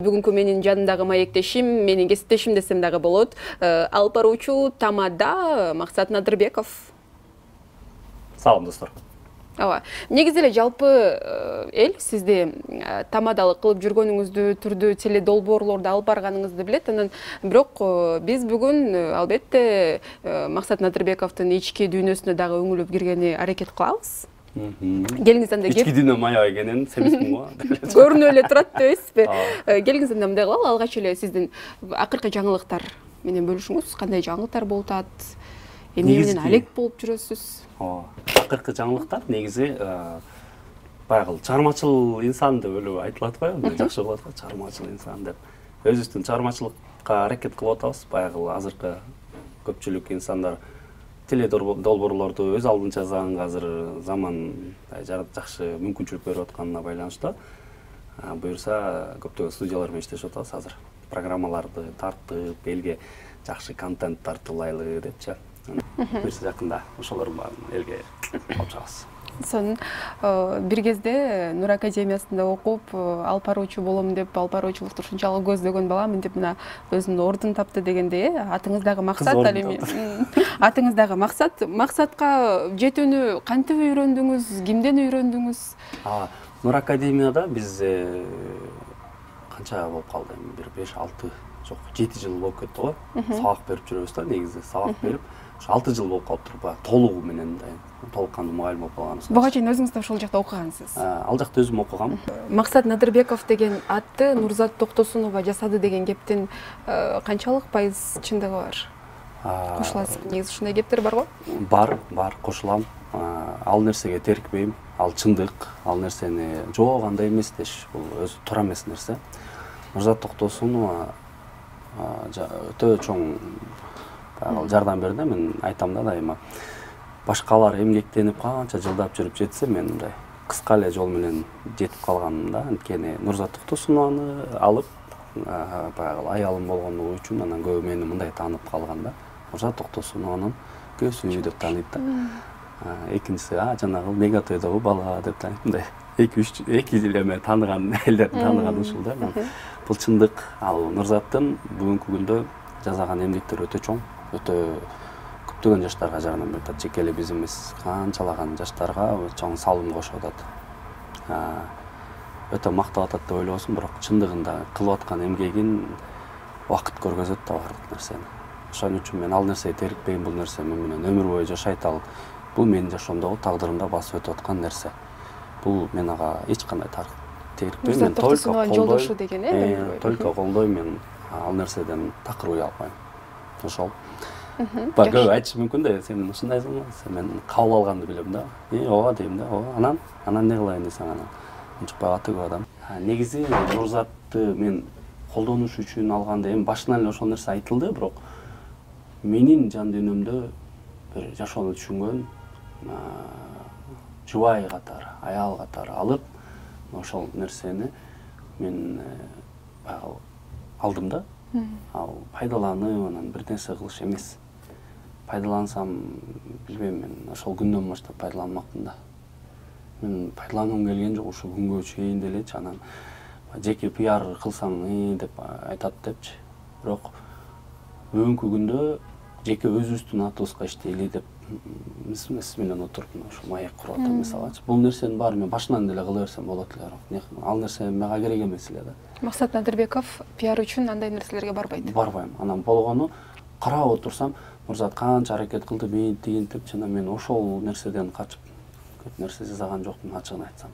Бүгүнкү менин жанымдагы маектешим, менин кесиптешим десем дагы болот. Алып баруучу Тамада Максат Надырбеков. Салам достор. Ооба. Негизи эле жалпы эл сизди тамадалык кылып жүргөнүңүздү, түрдүү теле долбоорлорду алып барганыңызды билет. Анан бирок биз бүгүн албетте Максат Надырбековдун ички дүйнөсүнө дагы өңүлүп киргени аракет кылабыз. Келиңиз анда ички дүйнө мая экенин себестин го. Көрүнүп эле турат депесизби? Келиңиз анда мындай кылалы, алгач эле сиздин акыркы жаңылыктар менен бөлүшүңүз. Кандай жаңылыктар болуп атат? Эмне менен алек болуп жүрөсүз? Акыркы жаңылыктар негизи баягы чыгармачыл инсан деп эле айтылат го, жакшы болот го, чыгармачыл инсан деп. Өзүбүздүн чыгармачылыкка аракет кылып атабыз. Баягы азыркы көпчүлүк инсандар теле долбоорлорду өз алдынча жазган азыр заман жакшы мүмкүнчүлүк берип атканына байланыштуу. Буюрса көптөгөн студиялар менен иштешип атабыз азыр. Программаларды тартып, элге жакшы контент тартуулайлы депчи. Буюрса жакында ошолордун баарын элге алып чыгабыз. Сонун бир кезде Нур академиясында окуп, алып баруучу болом деп, алып баруучулукту ушунчалык көздөгөн баламын деп мына өзүнүн ордун тапты дегенде, атыңыздагы максат ал эми. Атыңыздагы максат, максатка жетүүнү кантип үйрөндүңүз, кимден үйрөндүңүз? Нур академияда биз канча болуп калды эми, бир 5-6, жок 7 жыл болуп кетти го. Сабак берип жүрөбүз да, негизи сабак берип. 6 жыл болуп калыптыр, баягы толугу менен толук кандуу мугалим болуп калганбыз. Буга чейин өзүңүз да ошол жакта окугансыз. Ал жакта өзүм окугам. Максат Надырбеков деген атты Нурзат Токтосунова жасады деген кептин канчалык пайыз чындыгы бар? Кошуласыз. Негизи ушундай кептер бар го? Бар, кошулам. Ал нерсеге терикпейм. Ал чындык, ал нерсени жок андай эмес деш, бул өзү туура эмес нерсе. Нурзат Токтосунова өтө чоң жардам берди. Мен айтам да дайыма. Башкалар эмгектенип канча жылдап жүрүп жетсе, мен мындай кыска эле жол менен жетип калганым да. Анткени Нурзат Токтосунованы алып, баягы аялым болгондугу үчүн анан көбү мени мындай таанып калган да. Нурзат Токтосунованын көсү деп тааныйт да. Экинчиси жанагы мегатойдогу бала деп тааныйт. Мындай 2 жыл эме тааныган элдердин тааныганы ушул да. Бул чындык. Ал Нурзаттын бүгүнкү күндө жазган эмгектери өтө чоң, өтө көптөгөн жаштарга жардам берип атат. Жеке эле биз эмес, канчалаган жаштарга чоң салым кошуп атат. Өтө мактап атат деп ойлобосмун, бирок чындыгында кылып аткан эмгегин убакыт көргөзөт да бардык нерсени. Ошон үчүн мен ал нерсеге терикпейм, бул нерсе мен менен өмүр бою жашайт. Ал бул менин жашоомдогу тагдырымда басып өтүп аткан нерсе. Бул мен ага эч кандай терикпейм. Мен жолдошу деген, только колдойм, мен ал нерседен такыр уя албайм. Ошол. Көбү айтышы мүмкүн да, сен ушундайсың, мен кабыл алганды билем да. Ооба дейм да, ооба. Анан не кылайын десең, анан унчукпай аты көп адам. Негизи Нурзатты мен колдонуш үчүн алганда эми башынан эле ошол нерсе айтылды, бирок менин жан дүйнөмдө бир жашоону түшүнгөн жубай катары, аял катары алып, ошол нерсени мен баягы алдым да. Ал пайдаланып, анан бир нерсе кылыш эмес. Пайдалансам, билбейм, мен ошол күндөн баштап пайдаланмакмын да. Мен пайдалангым келген жок, ушу күнгө чейин делечи, анан жеке пиар кылсаң деп айтат депчи. Бирок бүгүнкү күндө жеке өзүбүздүн атыбызга иштейли деп эмес менен отуруп ошо маек куруп атам мисалычы. Бул нерсенин баары мен башынан деле кыла берсем болот эле. Ал нерсе мага керек эмес эле да. Максат Надырбеков пиар үчүн андай нерселерге барбайт. Барбайм. Анан болгону карап отурсам, Нурзат канча аракет кылды, бейин деп, жана мен ошол нерседен качып көп нерсе жасаган жокмун, ачыгын айтсам.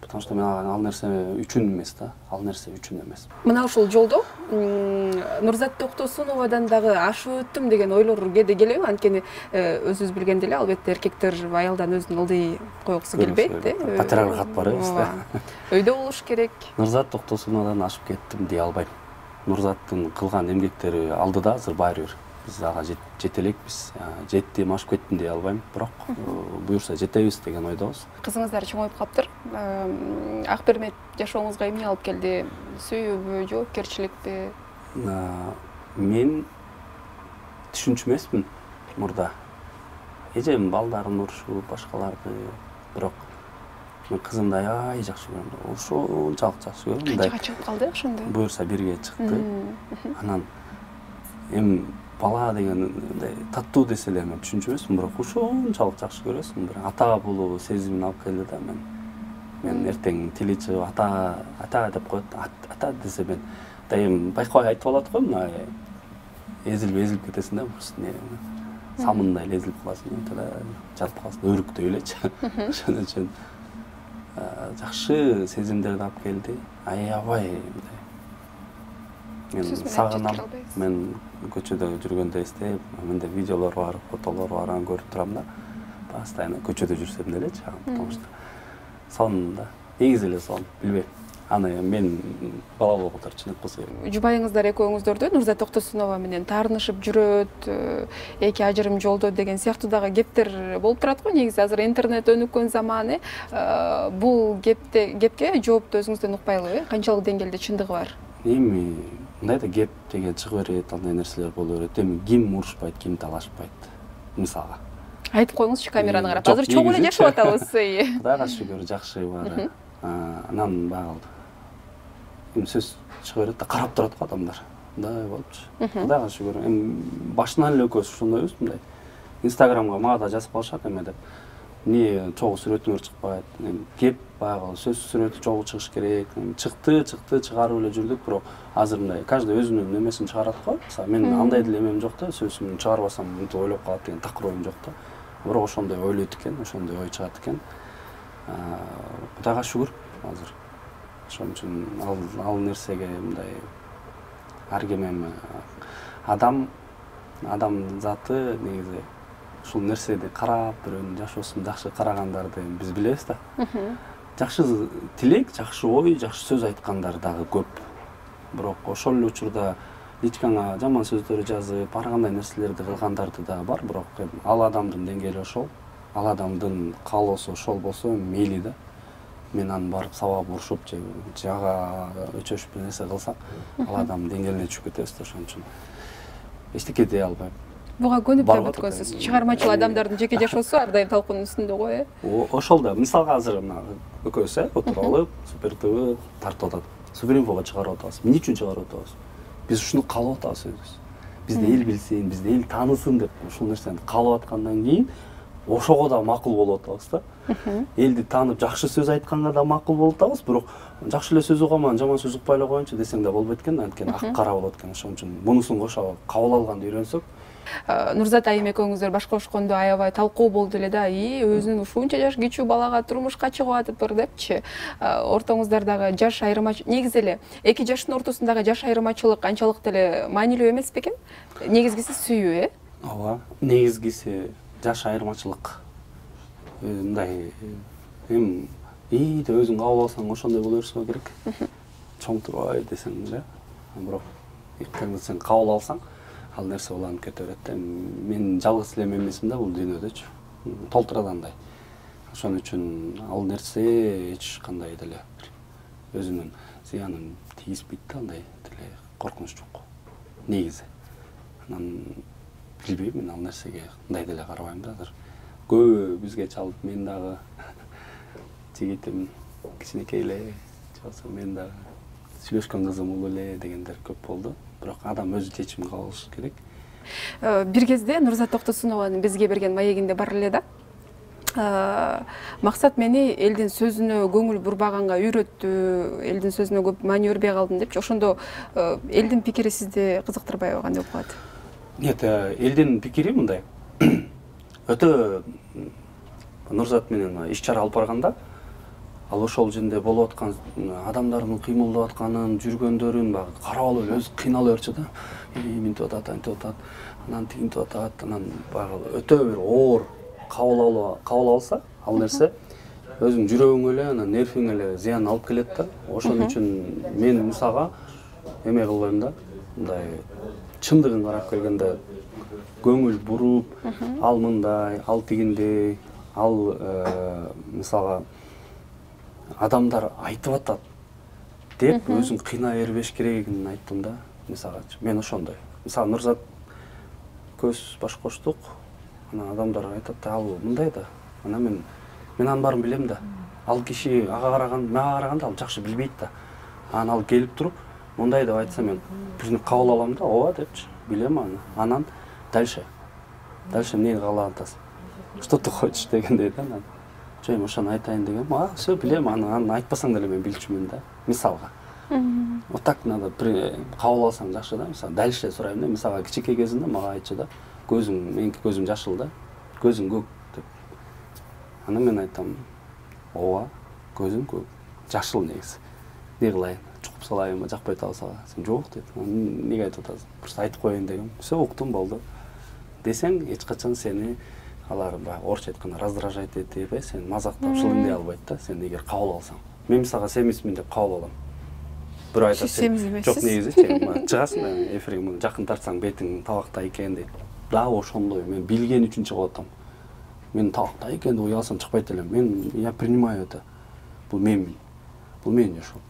Потому что мен ал нерсе үчүн эмес да, ал нерсе үчүн эмес. Мына ушул жолдо Нурзат Токтосуновадан дагы ашып өттүм деген ойлор кээде келеби? Анткени өзүңүз билгендей эле, албетте эркектер аялдан өзүн ылдый койгусу келбейт, патриархат бар эмес да. Өйдө болуш керек. Нурзат Токтосуновадан ашып кеттим дей албайм. Нурзаттын кылган эмгектери алдыда азыр баары бир. Биз ага жете элекпиз. Жеттим, ашып кеттим дей албайм, бирок буюрса жетебиз деген ойдобуз. Кызыңыздар чоңоюп каптыр. Ак Бермет жашооңузга эмне алып келди? Сүйүүбү, жоопкерчиликпи? Мен түшүнчү эмесмин мурда. Эжем балдарын урушуп, башкаларды, бирок Мен кызымды аябай жакшы көрөм. Ошончалык жакшы көрөм. Канчага чыгып калды ошондо? Буюрса бирге чыкты. Анан эми бала деген мындай таттуу десе эле мен түшүнчү эмесмин, бирок ошончалык жакшы көрөсүң, бир ата болуу сезимин алып келди да мен эртең тили чыгып ата деп коет. Ата десе мен эми байкабай айтып алат го, мына эзилип кетесиң да, просто самындай эле эзилип каласың, жатып каласың, өрүктөй элечи. Ошон үчүн жакшы сезимдерди алып келди. Аябай мен сагынам. Мен көчөдө жүргөндө эстеп, менде видеолор бар, фотолор бар, аны көрүп турам да. Постоянно көчөдө жүрсөм делечи, потому что сонунда негизи эле сон, билбейм. Аны мен бала болгондор чын болсо. Жубайыңыздар экөөңүздөрдү Нурзат Токтосунова менен таарынышып жүрөт, эки ажырым жолдо деген сыяктуу дагы кептер болуп турат го. Негизи азыр интернет өнүккөн заманы, бул кепке жоопту өзүңүздөн укпайлыбы? Канчалык деңгээлде чындыгы бар? Эми мындай да кеп деген чыга берет, андай нерселер боло берет. Эми ким урушпайт, ким талашпайт, мисалга. Айтып коюңузчу камераны карап. Азыр чогуу эле жашап атабыз. Кудайга шүгүр, жакшы бар. Анан багыл эми сөз чыга берет да, карап турат го адамдар. Мындай болупчу. Кудайга шүгүр. Эми башынан эле экөөбүз ошондойбуз, мындай. Инстаграмга мага да жазып калышат эме деп. Эмне чогуу сүрөтүңөр чыкпайт? Кеп баягы сөз сүрөтү чогуу чыгыш керек. Чыкты, чыгарып эле жүрдүк, бирок азыр мындай каждый өзүнүн немесин чыгарат го. Мисалы мен андай деле эмем жок да, сөзүмдү чыгарбасам мынтип ойлоп калат деген такыр оюм жок да. Бирок ошондой ойлойт экен, ошондой ой чыгат экен. Кудайга шүгүр азыр. Ошон үчүн ал нерсеге мындай ар ким эми адам заты негизи ушул нерсени карап, бирөөнүн жашоосун жакшы карагандарды биз билебиз да. Жакшы тилек, жакшы ой, жакшы сөз айткандар дагы көп. Бирок ошол эле учурда личкаңа жаман сөздөр жазып, ар кандай нерселерди кылгандарды дагы бар, бирок ал адамдын деңгээли ошол, ал адамдын каалоосу ошол болсо мейли да. Мен аны барып сабап урушуп же жага өчөшүп бир нерсе кылсак, ал адамдын деңгээлине түшүп кетебиз да, ошон үчүн эчтеке дей албайм. Буга көнүп да бүткөнсүз. Чыгармачыл адамдардын жеке жашоосу ар дайым талкуунун үстүндө го, Ошол да. Мисалга азыр мына экөөбүз отуруп алып, Супер ТВ тартып атат. Супер инфого чыгарып атабыз. Эмне үчүн чыгарып атабыз? Биз ушуну каалап атабыз өзүбүз. Бизди эл билсин, бизди эл таанысын деп ушул нерсени каалап аткандан кийин ошого да макул болуп атабыз да. Элди таанып жакшы сөз айтканга да макул болуп атабыз, бирок жакшы эле сөз угаман, жаман сөз укпай эле коеюнчу десең да болбойт экен, анткени ак кара болот экен. Ошон үчүн мунусун кошо кабыл алганды үйрөнсөк. Нурзат айым экөөңүздөр башка кошкондо аябай талкуу болду эле да. Өзүнүн ушунча жаш кичүү балага турмушка чыгып атыптыр депчи. Ортоңуздардагы жаш айырмачылык, негизи эле эки жаштын ортосундагы жаш айырмачылык канчалык деле маанилүү эмес бекен? Негизгиси сүйүү, Ооба, негизгиси жаш айырмачылык. Мындай эми деп өзүң кабыл алсаң ошондой боло берсе керек. Чоң турбай десең эле, бирок эки сен кабыл алсаң, ал нерсе уланып кете берет да. Мен жалгыз эле эмесмин да бул дүйнөдөчү. Толтура андай. Ошон үчүн ал нерсе эч кандай деле өзүнүн зыянын тийиспейт да, андай деле коркунуч жок. Негизи. Анан билбейм, мен ал нерсеге мындай деле карабайм да азыр. Көбү бизге чалып, мен дагы жигитим кичинекей эле, чалса мен дагы сүйлөшкөн кызым улуу эле дегендер көп болду. Бирок адам өзү чечим кабыл алышы керек. Бир кезде Нурзат Токтосунованын бизге берген маегинде бар эле да. Максат мени элдин сөзүнө көңүл бурбаганга үйрөттү, элдин сөзүнө көп маани бербей калдым депчи. Ошондо элдин пикири сизди кызыктырбайбы, кандай болуп калат? Нет, элдин пикири мындай. Өтө Нурзат менен иш чара алып барганда, ал ошол жерде болуп аткан адамдардын кыймылдап атканын, жүргөндөрүн багы карап алып эле өзү кыйнала берчү да. Мынтип атат, антип атат, анан тигинтип атат, анан багы өтө бир оор кабыл алса, ал нерсе өзүң жүрөгүңө эле, анан нервиңе эле зыян алып келет да. Ошон үчүн мен мисалга эме кылбайм да. Мындай чындыгын карап келгенде көңүл буруп, ал мындай, ал тигиндей, ал мисалга адамдар айтып атат деп өзүң кыйнай бербеш керегин айттым да. Мисалга мен ошондой. Мисалы Нурзат көз баш коштук, анан адамдар айтат, ал мындай да. Анан мен анын баарын билем да. ал киши ага караганда ал жакшы билбейт да. Анан ал келип туруп мындай деп айтса мен бирини кабыл алам да, ооба депчи, билем аны. Анан дальше эмнени каалап атасың? Что ты хочешь дегендей да. Анан жөн ошону айтайын дегем. Все билем, аны айтпасаң деле мен билчүмүн да. Мисалга. Вот так надо кабыл алсаң жакшы да. Мисалы дальше сурайм да. Мисалга кичинекей кезинде мага айтчу да. Меники көзүм жашыл да. Көзүң көк деп. Анан мен айтам, ооба, көзүм көк. Жашыл негизи. Не кылайын? Чукуп салайынбы, жакпай атабы? Сен жок дейт. Неге айтып атасың? Просто айтып коеюн дегем. Все уктум, болду. Десең, эч качан сени алар орусча айтканда раздражать этип, сен мазактап шылыңдей албайт да, сен эгер кабыл алсаң. Мен мисалга семизмин деп кабыл алам. Бирөө айтат, жок негизи, чыгасың да, эфирге жакын тартсаң бетиң табакта экен дейт. Да, ошондой. Мен билген үчүн чыгып атам. Мен табакта экен деп уялсам чыкпайт элем. Я принимаю это. Бул мен ошол.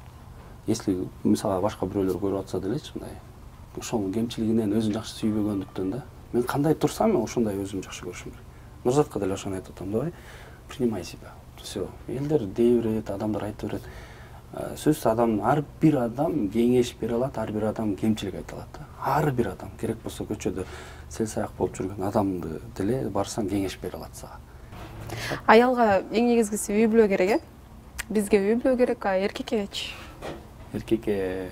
Если мисалга башка бирөөлөр көрүп атса делечи, мындай ошонун кемчилигинен өзүн жакшы сүйбөгөндүктөн да. Мен кандай турсам, мен ошондой өзүмдү жакшы көрүшүм керек. Нурзатка деле ошону айтып атам, давай, принимай себя. Все. Элдер дей берет, адамдар айтып берет. Сөз ар бир адам кеңеш бере алат, ар бир адам кемчилик айта алат да. Ар бир адам керек болсо көчөдө сел-саяк болуп жүргөн адамды деле барсаң кеңеш бере алат сага. Аялга эң негизгиси үй бүлө керек, Бизге үй бүлө керек, эркеккечи? Эркекке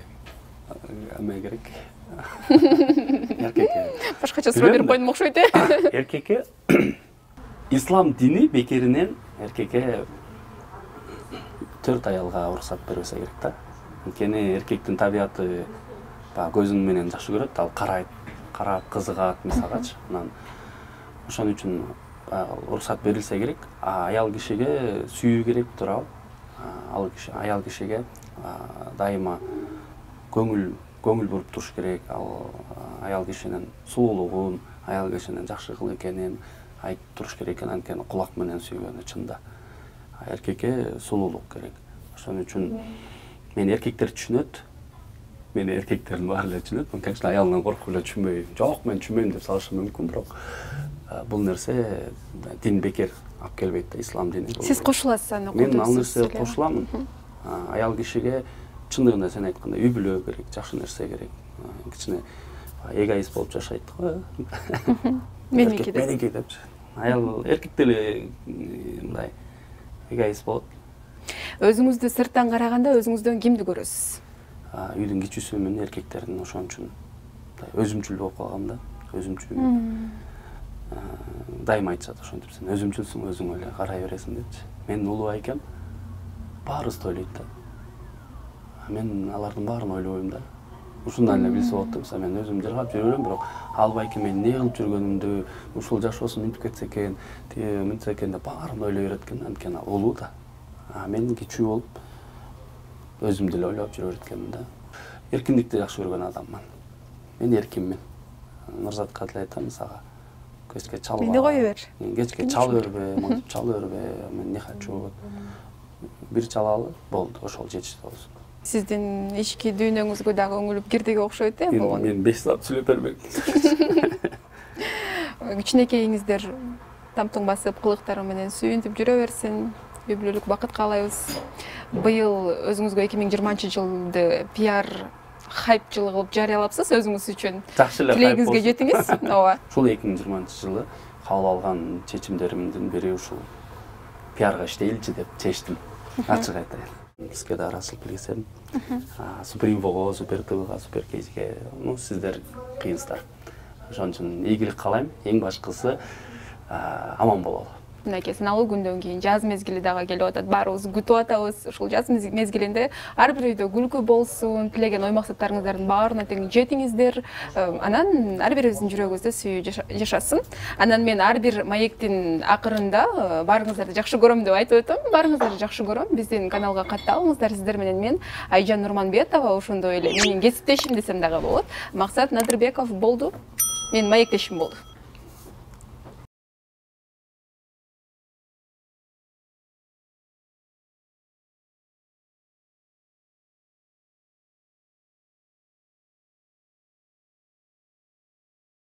эме керек. Эркекке. Башкача суроо берип койдум окшойт, Эркекке ислам дини бекеринен эркекке 4 аялга уруксат бербесе керек да. Анткени эркектин табияты көзүң менен жакшы көрөт, ал карап кызыгат мисалгачы. Анан ошон үчүн уруксат берилсе керек. Аял кишиге сүйүү керек туурабы? Аял кишиге дайыма көңүл буруп туруш керек. Ал аял кишинин сулуулугун, аял кишинин жакшы кыл экенин айтып туруш керек экен, анткени кулак менен сүйгөнү чында. Эркекке сулуулук керек. Ошон үчүн мен эркектер түшүнөт. Мени эркектердин баары эле түшүнөт. Мен, конечно, аялымдан коркуп эле түшүнбөйм. Жок, мен түшүнбөйм деп салышым мүмкүн, бирок бул нерсе дин бекер алып келбейт да, ислам дини. Сиз кошуласыз аны окуйсуз? Мен ал нерсеге кошуламын. Аял кишиге чындыгында сен айткандай үй бүлө керек, жакшы нерсе керек. Кичине эгоист болуп жашайт го. Меники депчи. Аял эркек деле мындай эгоист болот. Өзүңүздү сырттан караганда өзүңүздөн кимди көрөсүз? Үйдүн кичүүсүмүн, эркектердин, ошон үчүн өзүмчүл болуп калгам да. Өзүмчүл. Дайыма айтышат ошентип, сен өзүмчүлсүң, өзүң эле карай бересиң депчи. Мен улуу экем, баарыбызды ойлойт да. Мен алардын баарын ойлобойм да. Ушундан эле билсе болот да. Мисалы мен өзүм жыргап жүрө берем, бирок албайки мен эмне кылып жүргөнүмдү, ушул жашоосун мынтип кетсе экен, мынтсе экен деп баарын ойлой берет экен, анткени ал улуу да. Мен кичүү болуп өзүмдү эле ойлоп жүрө берет экенмин да. Эркиндикти жакшы көргөн адаммын. Мен эркинмин. Нурзатка деле айтам, сага кечке чалба. Мени кое бер. Кечке чала бербе, монтип чала бербе, мен не хочу. Бир чалалы болду, ошол жетиштүү болсун. Сиздин ички дүйнөңүзгө дагы өңүлүп кирдиги окшойт, болгон. Мен 5 саат сүйлөп бермек. Кичинекейиңиздер тамтың басып, кылыктары менен сүйүнтүп жүрө берсин. Үй бүлөлүк бакыт каалайбыз. Быйыл өзүңүзгө 2020-жылды пиар хайп жылы кылып жарыялапсыз өзүңүз үчүн. Жакшы эле хайп болсун. Тилегиңизге жетиңиз. Ооба. Ушул 2020-жылы кабыл алган чечимдеримдин бири ушул пиарга иштейличи деп чечтим. Ачык айтайын. Бизге да арачылык билгизем. Суперинфого, Супер ТВга, Супер Кейзге, сиздер кыйынсыздар. Ошон үчүн ийгилик каалайм. Эң башкысы аман бололу. Мынакей сыналуу күндөн кийин жаз мезгили дагы келип атат. Баарыбыз күтүп атабыз. Ушул жаз мезгилинде ар бир үйдө күлкү болсун, тилеген ой максаттарыңыздардын баарына тең жетиңиздер. Анан ар бирибиздин жүрөгүбүздө сүйүү жашасын. Анан мен ар бир маектин акырында баарыңыздарды жакшы көрөм деп айтып өтөм. Баарыңыздарды жакшы көрөм. Биздин каналга катталыңыздар. Сиздер менен мен Айжан Нурманбетова, ошондой эле менин кесиптешим десем дагы болот. Максат Надырбеков болду. Менин маектешим болду.